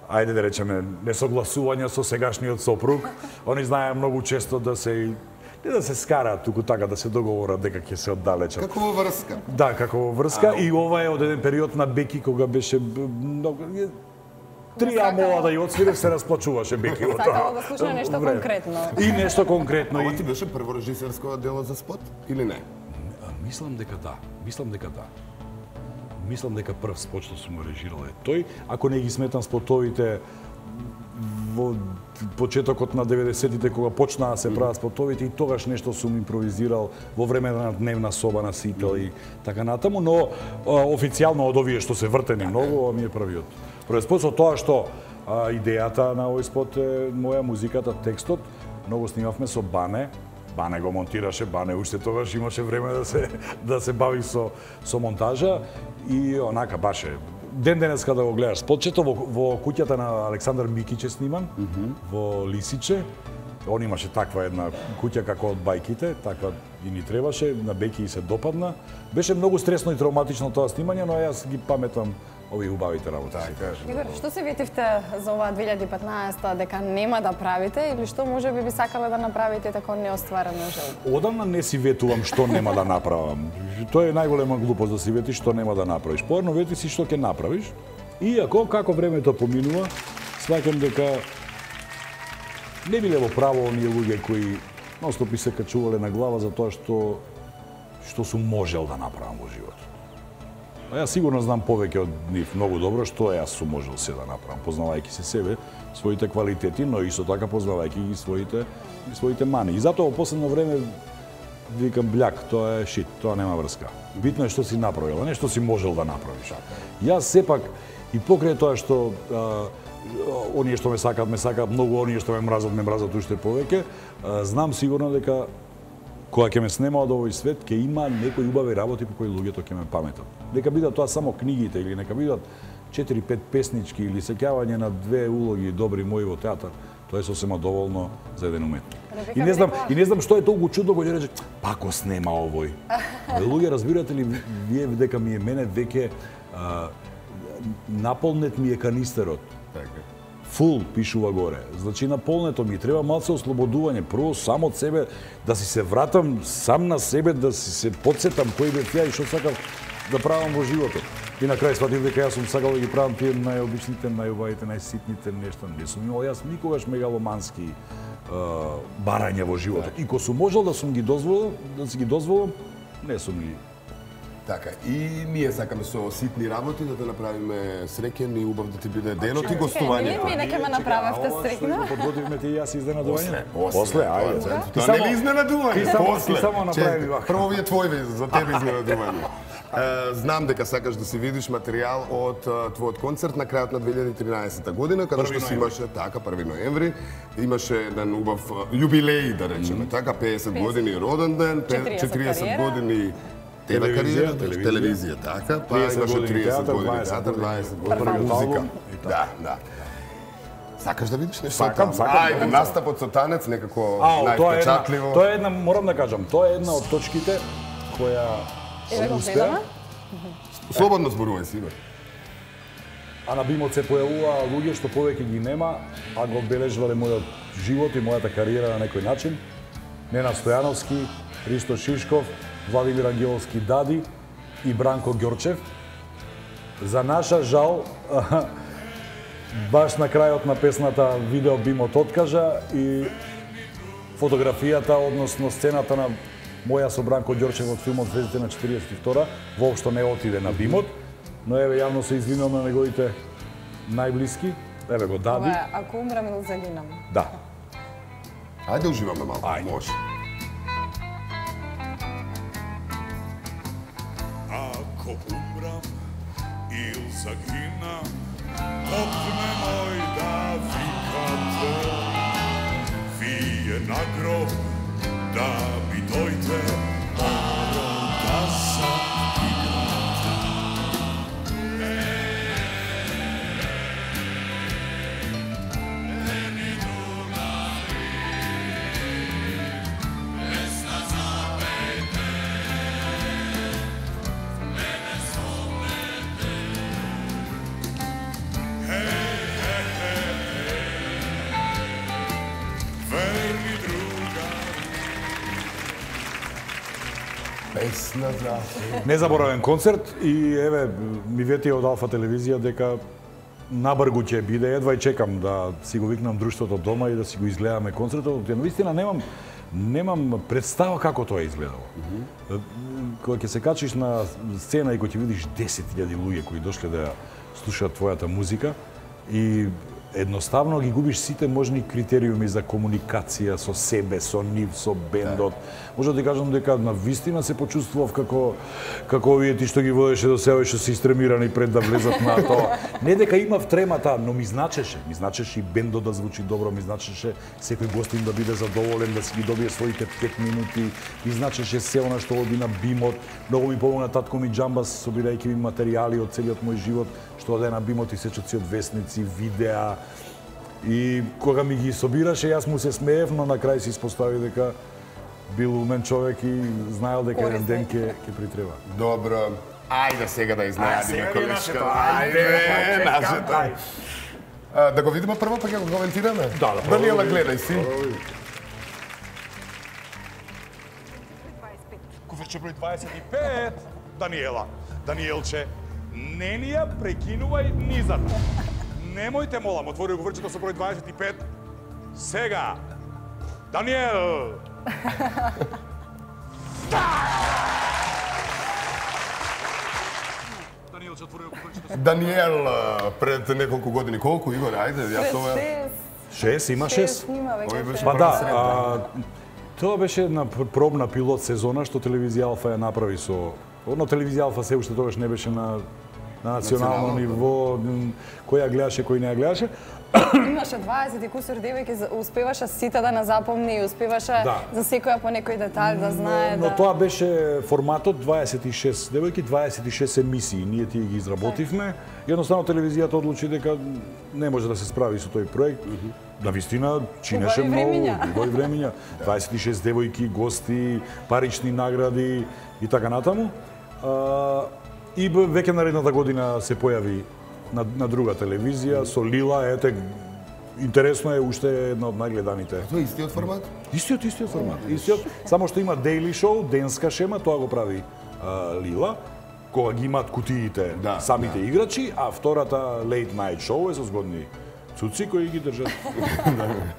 ајде да речеме несогласувања со сегашниот сопруг. Они знае многу често да се не да се скараат, туку така да се договорат дека ќе се оддалечат. Како во врска. Да, како во врска. И ова е од еден период на Беки кога беше многу три амола да ја отсвирев, се расплачуваше Беки од тоа. Сакала да слуша нешто конкретно. И нешто конкретно. Ова ти беше прво режисерско дело за спот или не? Мислам дека да. Мислам дека да. Мислам дека прв спот што сум го режирал е тој. Ако не ги сметам спотовите во почетокот на деветдесетите кога почнаа да се прават спотовите и тогаш нешто сум импровизирал во време на дневна соба на Сител и така натаму, но а, официјално од овие што се вртени многу, ова ми е првиот. Првиот спот со тоа што а, идејата на овој спот е моја музиката, текстот, многу снимавме со Бане. Бане го монтираше, Бане уште тогаш имаше време да се да се бави со со монтажа и онака баше ден денеска да го гледаш спотчето во, во куќата на Александар Микиć е сниман, mm -hmm. во Лисиче. Он имаше таква една куќа како од бајките, таква и ни требаше, на Беки и се допадна. Беше многу стресно и травматично тоа снимање, но јас ги паметам овие убавите работи. Игор, што се ветивте за оваа две илјади и петнаесета дека нема да правите или што може би би сакале да направите тако неостварено желба? Одамна не си ветувам што нема да направам. Тоа е најголема глупост да си ветиш што нема да направиш. Порно вети си што ќе направиш. Иако како времето поминува, сваќам дека не биле во право оние луѓе кои ностопи се качувале на глава за тоа што што сум можел да направам во животот. А јас сигурно знам повеќе од нив многу добро што јас сум можел се да направам, познавајќи се себе, своите квалитети, но исто така познавајќи ги своите и своите мани. И затоа во последно време викам бљак, тоа е шит, тоа нема врска. Битно е што си направил, а не што си можел да направиш. Јас сепак и покрај тоа што а, оние што ме сакаат, ме сакаат многу, оние што ме мразат, ме мразат уште повеќе, а, знам сигурно дека кога ќе ме снема од овој свет, ќе има некои убави работи по кои луѓето ќе ме паметат. Нека бидат тоа само книгите или нека бидат четири-пет песнички или сеќавање на две улоги добри мои во театар, тоа е сосема доволно за еден уметник. И не знам, и не знам што е толку чудно кога ќе рече пак го снема овој. Луѓе, разбирате ли вие дека ми е мене веќе наполнет ми е канистерот. фул пишува горе. Значи наполнето ми треба малце ослободување, прво само од себе да си се вратам сам на себе, да си се потсетам кој бев ја и што сакав да правам во животот. И на крај сватив дека јас сум сакал да ги правам тие најобичните, најубавите, најситните нешта. Не сум имал јас никогаш мегаломански е, барања во животот. И ко сум можел да сум ги дозволил, да си ги дозволам, не сум ги. Така, и ние сакаме со ситни работи да те направиме среќен и убав да ти биде денот и гостувањето. Мене ќе ме направевте среќна. Подготвивме ти и јас изненадување. После, после, ајде. Тоа не ви изненадување. Ти само направи вака. Прво ви е твој, за тебе изненадување. Знам дека сакаш да си видиш материјал од твојот концерт на крајот на две илјади и тринаесетта година, каде што си имаше, така, први ноември, имаше еден убав јубилеј, да речеме, така, пеесет години роден ден, четириесет години тебе кариера, телевизија, така, па имаше триесет години театар, дваесет години музика. Да, да. Сакаш да видиш нешто? Сакам, сакам. Ајде, настапот со танец некако највпечатливо. највпечатливо. Тоа е една, морам да кажам, тоа е една од точките која Еве го успеа. гледаме. Слободно зборувај си, бе. А на бимот се појавуваа луѓе што повеќе ги нема, а го обележувале мојот живот и мојата кариера на некој начин. Нена Стојановски, Ристо Шишков, Владимир Ангеловски Дади и Бранко Ѓорчев. За наша жал, баш на крајот на песната видео бимот откажа и фотографијата, односно сцената на моја со Бранко Ѓорчев од филмот Звездите на четириесет и втора воопшто не отиде на бимот, но еве јавно се извинувам на неговите најблиски. Еве го Дади. Ова е Ако умрам или загинам. Да. Ајде уживаме малку, Ајде. може. Ако умрам или загинам, отме мој да викате, вие на гроб да ми дојде, морам да се играте. Ени другари, песна запејте, мене спомнете. Хеј, хеј, хеј, верни другари. Песна за... Незаборавен концерт и еве ми ветија од Алфа телевизија дека набргу ќе биде, едва и чекам да си го викнам друштвото дома и да си го изгледаме концертот. Ја навистина немам немам представа како тоа изгледало. Mm -hmm. Кога ќе се качиш на сцена и кога ќе видиш десет илјади луѓе кои дошле да ја слушаат твојата музика и едноставно ги губиш сите можни критериуми за комуникација со себе, со нив, со бендот. Може да ти кажам дека на вистина се почувствував како како овие ти што ги водеше до сега што се истремирани пред да влезат на тоа. Не дека имав тремата, но ми значеше, ми значеше и бендот да звучи добро, ми значеше секој гостин да биде задоволен, да си ги добие своите пет минути, ми значеше се она што оди на бимот. Многу ми помогна татко ми Џамбас собирајќи ми материјали од целиот мој живот, што оде на бимот и сечат си од весници, видеа. И кога ми ги собираше, јас му се смеев, но на крај се испостави дека бил умен човек и знаел дека еден ден ќе ќе притреба. Добро. Ајде сега да изненадиме Ајде, колешка. Ајде, Ајде, нашето. А, да го видиме прво, па ќе го коментираме? Да, да, прво Даниела, го гледај си. Куферче број дваесет и пет. Даниела, Даниелче, не ни ја прекинувај низата. Немојте, молам, отвори го врчето со број дваесет и пет. Сега. Даниел. Даниелче, отвори го врчето. Даниел пред неколку години, колку, Игор, ајде, јас тоа... Шест, има шест. Снима Овој веќе. беше Па прва да, средна. а, тоа беше една пр- пробна пилот сезона што телевизија Алфа ја направи со... Одно телевизија Алфа се уште тогаш не беше на на национално Национално, ниво, м, кој ја гледаше, кој не ја гледаше. Имаше дваесет и кусур девојки, за- успеваше сите да не запомни и успеваше Да. за секоја по некој детаљ да знае Но да... тоа беше форматот дваесет и шест девојки, дваесет и шест емисии. Ние тие ги изработивме. Едноставно телевизијата одлучи дека не може да се справи со тој проект. На вистина чинеше Убави многу, времиња. убави времиња. дваесет и шест девојки, гости, парични награди и така натаму. А, и б- веќе наредната година се појави на, на друга телевизија со Лила, ете интересно е, уште е една од најгледаните. Тоа е истиот формат? Истиот, истиот формат. Истиот, само што има daily show, денска шема, тоа го прави а, Лила, кога ги имаат кутиите Да, самите да. играчи, а втората late night show е со згодни цуци кои ги држат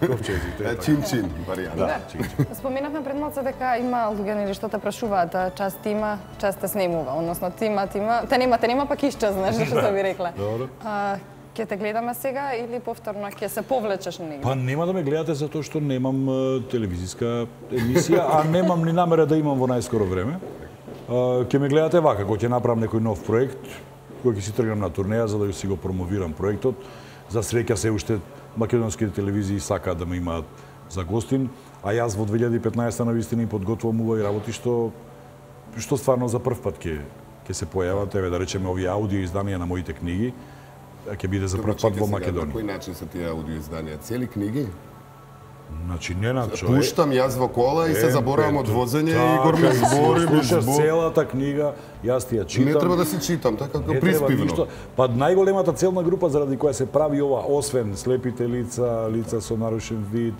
ковчезите. Чин-чин варијанта. Да, чин-чин. Споменавме пред малку дека има луѓе нели што те прашуваат, а, част има, част те снимува, односно ти има, ти има, те нема, те нема пак исчезнаш, што би рекла. Добро. А, ќе те гледаме сега или повторно ќе се повлечеш на него? Па нема да ме гледате затоа што немам е, телевизиска емисија, а немам ни намера да имам во најскоро време. Е, Ќе ме гледате вака, кога ќе направам некој нов проект, кој ќе си тргнам на турнеја за да си го промовирам проектот. За среќа се уште македонските телевизии сакаат да ме имаат за гостин, а јас во две илјади и петнаесета навистина им подготвувам убави работи што што стварно за прв пат ќе ќе се појават, еве да речеме овие аудио изданија на моите книги, ќе биде за прв пат во Македонија. На кој начин се тие аудио изданија? Цели книги? Значи не на човек. Пуштам јас во кола и се заборавам од возење и Игор ми збори, ми слушаш збори. целата книга, јас ти ја читам. Не треба да си читам, така како Не треба приспивно. ништо. Па најголемата целна група заради која се прави ова, освен слепите лица, лица со нарушен вид,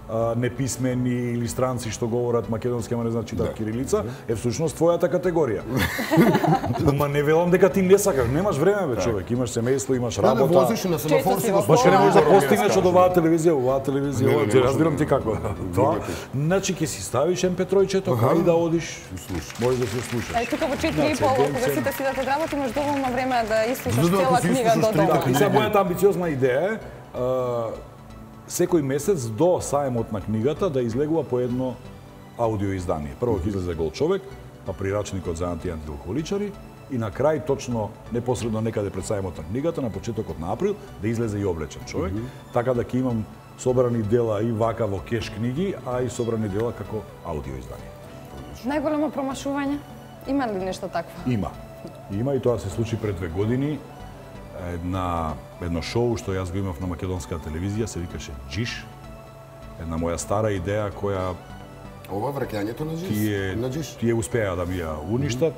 а, неписмени или странци што говорат македонски, ама не знаат читат кирилица, е всушност твојата категорија. Ма не велам дека ти не сакаш, немаш време бе човек, имаш семејство, имаш Да, да, работа. возиш и на семафор си го Баш не можеш да спомнам. постигнеш од оваа телевизија, оваа телевизија, Не, не, ова, не ти можам разбирам да- ти како. Тоа, значи ќе си ставиш ем пе три-чето, кај да одиш, можеш да се слушаш. Ај тука во четири и пол, кога сите си да те работи, имаш доволно време да ислушаш Да, да, ако цела си книга ислушаш до дома. трите И сега мојата амбициозна идеја е а, секој месец до саемот на книгата да излегува по едно аудио издание. Прво ќе излезе Гол човек, па прирачникот за анти- и антиалкохоличари и на крај точно непосредно некаде пред саемот на книгата на почетокот на април да излезе и облечен човек, така да ќе имам собрани дела и вака во кеш книги, а и собрани дела како аудио издание. Најголемо промашување? Има ли нешто такво? Има. Има и тоа се случи пред две години. Една, едно шоу што јас го имав на македонска телевизија, се викаше Джиш. Една моја стара идеја која Ова враќањето на Джиш? тие, На Джиш? тие успеа да ми ја уништат.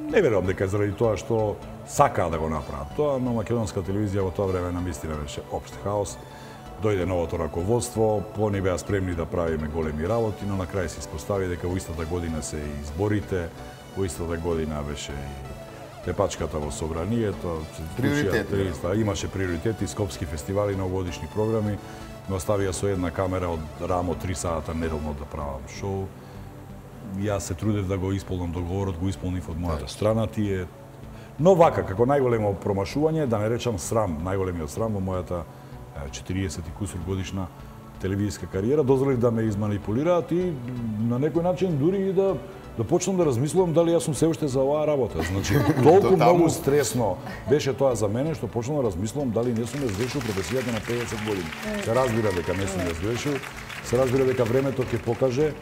Не верувам дека е заради тоа што сакаа да го направат тоа, но македонска телевизија во тоа време намистина беше општ хаос. Дојде новото раководство, они беа спремни да правиме големи работи, но на крај се испостави дека во истата година се и изборите, во истата година беше и тепачката во собранието, се случија Приоритети, триста, имаше приоритети, скопски фестивали, новогодишни програми, но оставија со една камера од рамо три сата неделно да правам шоу. Јас се трудев да го исполнам договорот, го исполнив од мојата страна, тие. Но вака, како најголемо промашување, да не речам срам, најголемиот срам во мојата е, четириесет и кусур годишна телевизиска кариера, дозволив да ме изманипулираат и на некој начин дури и да да почнам да размислувам дали јас сум се уште за оваа работа. Значи, толку многу стресно беше тоа за мене што почнам да размислувам дали не сум ја завршил професијата на педесет години. Се разбира дека не сум ја завршил, се разбира дека времето ќе покаже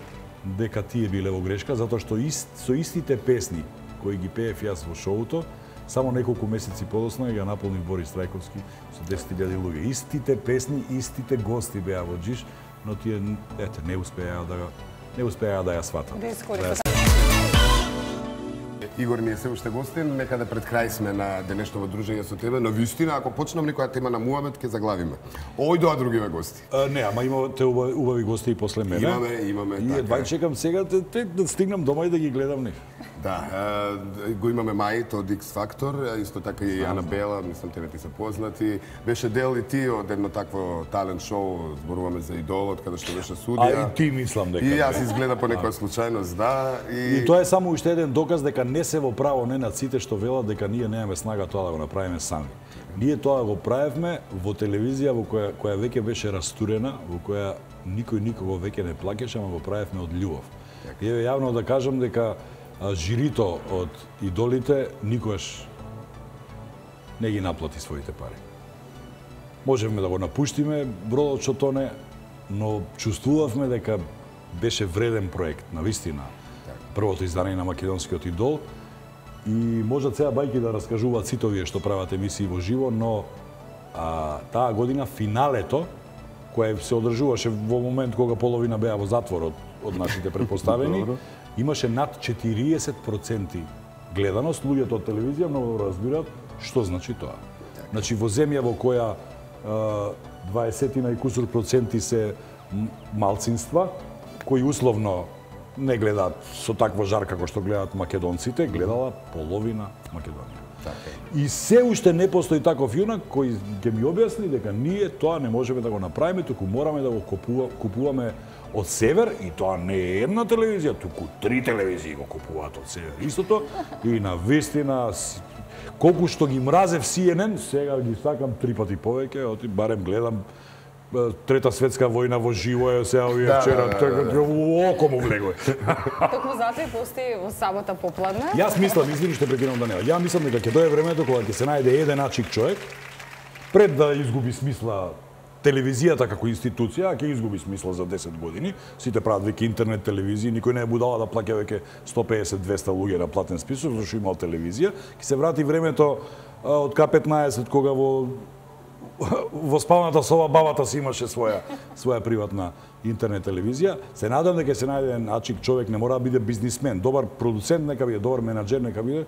дека тие биле во грешка, затоа што ист, со истите песни кои ги пеев јас во шоуто, само неколку месеци подосна ја наполнив Борис Трајковски со десет илјади луѓе. Истите песни, истите гости беа во Джиш, но тие ете не успеа да не успеа да ја сватат. Да искористат. Игор, ние се уште гостин, некаде пред крај сме на денешното дружење со тебе, но вистина, ако почнам некоја тема на муабет, ќе заглавиме. Ој доа другиве гости. А, не, ама имате убави, убави гости и после мене. Имаме, имаме, И така едва е. чекам сега те, те, да стигнам дома и да ги гледам нив. Да, е, го имаме Мајт од X Factor, исто така и Анабела, мислам тебе ти се познати. Беше дел и ти од едно такво талент шоу, зборуваме за Идолот, каде што беше А судија. и ти мислам дека. И јас бе. изгледа по некоја случајност, да. И тоа е само уште еден доказ дека не се во право не на сите што велат дека ние немаме снага тоа да го направиме сами. Ние тоа го правевме во телевизија во која која веќе беше растурена, во која никој никого веќе не плаќаше, ама го правевме од љубов. И еве јавно да кажам дека а, жирито од идолите никогаш не ги наплати своите пари. Можеме да го напуштиме бродот што тоне, но чувствувавме дека беше вреден проект, навистина. Првото издание на македонскиот идол. И можат сега бајки да раскажуваат сите овие што прават емисии во живо, но а, таа година финалето, кое се одржуваше во момент кога половина беа во затвор од, од нашите предпоставени, имаше над четириесет проценти гледаност. Луѓето од телевизија многу разбираат што значи тоа. Значи во земја во која а, дваесет и кусур проценти се малцинства, кои условно не гледаат со таква жар како што гледаат македонците, гледала половина Македонија. И се уште не постои таков јунак кој ќе ми објасни дека ние тоа не можеме да го направиме, туку мораме да го купува, купуваме од север, и тоа не е една телевизија, туку три телевизии го купуваат од север. Истото, и на вистина, колку што ги мразев Си Ен Ен, сега ги сакам три пати повеќе, оти барем гледам Трета светска војна во живо е сега овие Да, вчера, да, да, така да. око му влегој. Токму затоа и постои во сабота попладне. Јас мислам, извини што прекинам Даниела, ја мислам дека ќе дое времето кога ќе се најде еден ачик човек, пред да изгуби смисла телевизијата како институција, ќе изгуби смисла за десет години. Сите прават веќе интернет телевизии, никој не е будала да плаќа веќе сто песет до двесте луѓе на платен список, зашто имал телевизија. Ќе се врати времето а, од К петнаесет, кога во во спалната соба бабата си имаше своја своја приватна интернет телевизија. Се надам дека се најде еден ачик човек, не мора да биде бизнисмен, добар продуцент нека биде, добар менаџер нека биде,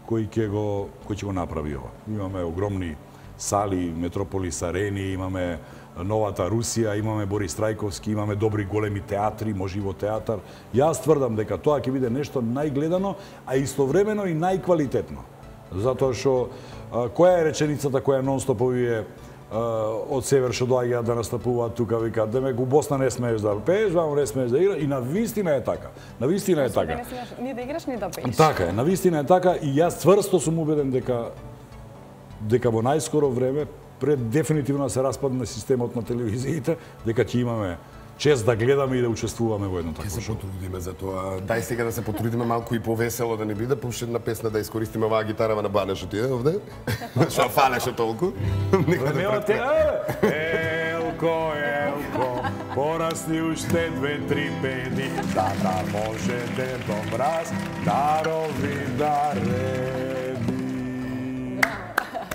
кој ќе го кој ќе го направи ова. Имаме огромни сали, Метрополис арени, имаме новата Русија, имаме Борис Трајковски, имаме добри големи театри, може и во театар. Јас тврдам дека тоа ќе биде нешто најгледано, а истовремено и најквалитетно. Затоа што која е реченицата која нон-стоп овие од север што доаѓаат да настапуваат тука, викаат демек у Босна не смееш да пееш, вамо не смееш да играш, и на вистина е така. На вистина е така. Не смееш ни да играш, ни да пееш. Така е, на вистина е така, и јас цврсто сум убеден дека дека во најскоро време, пред дефинитивно да се распадне системот на телевизиите, дека ќе имаме чест да гледаме и да учествуваме во едно такво Ќе се шоу. потрудиме за тоа. Дај сега да се потрудиме малку и повесело да не биде, пушти една песна да искористиме оваа гитарава на Бане што ти е овде. Што фалеше толку. Нека да Нема те, претпре- Елко, Елко, порасни уште две-три педи, да да можете до мраз, дарови да реди.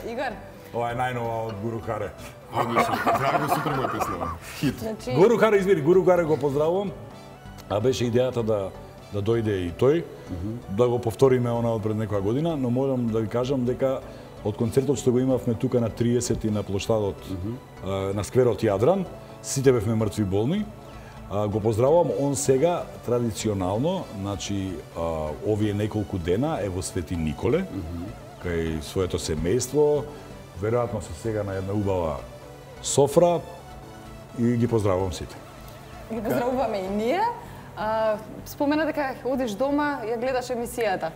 Игор, Ова е најнова од Гуру Харе. Одлично. Драго, супер моја песна. Хит. значи Гуру Харе, извини, Гуру Харе го поздравувам, а беше идејата да да дојде и тој, да го повториме она од пред некоја година, но морам да ви кажам дека од концертот што го имавме тука на триесети на плоштадот а, на скверот Јадран, сите бевме мртви болни. А, го поздравувам, он сега традиционално, значи а, овие неколку дена е во Свети Николе, кај своето семејство, веројатно се сега на една убава софра, и ги поздравувам сите. ги поздравуваме и ние. А, спомена дека одиш дома, ја гледаш емисијата.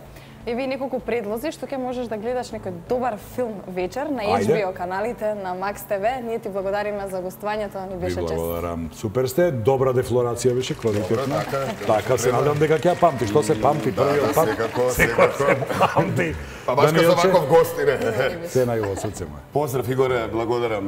Еви неколку предлози што ќе можеш да гледаш некој добар филм вечер на Ейч Би О Ајде. каналите, на Макс Те Ве. Ние ти благодариме за гостувањето, ни Ви беше чест. благодарам. Супер сте, добра дефлорација беше, квалитетна. Добра, така, така се надам дека ќе ја памти. Што се памти првиот да, пат? секако, секој секако. се памти. Па баш кај Даниелче, ваков гости, не. се најубаво срце моје. Поздрав, Игоре, благодарам.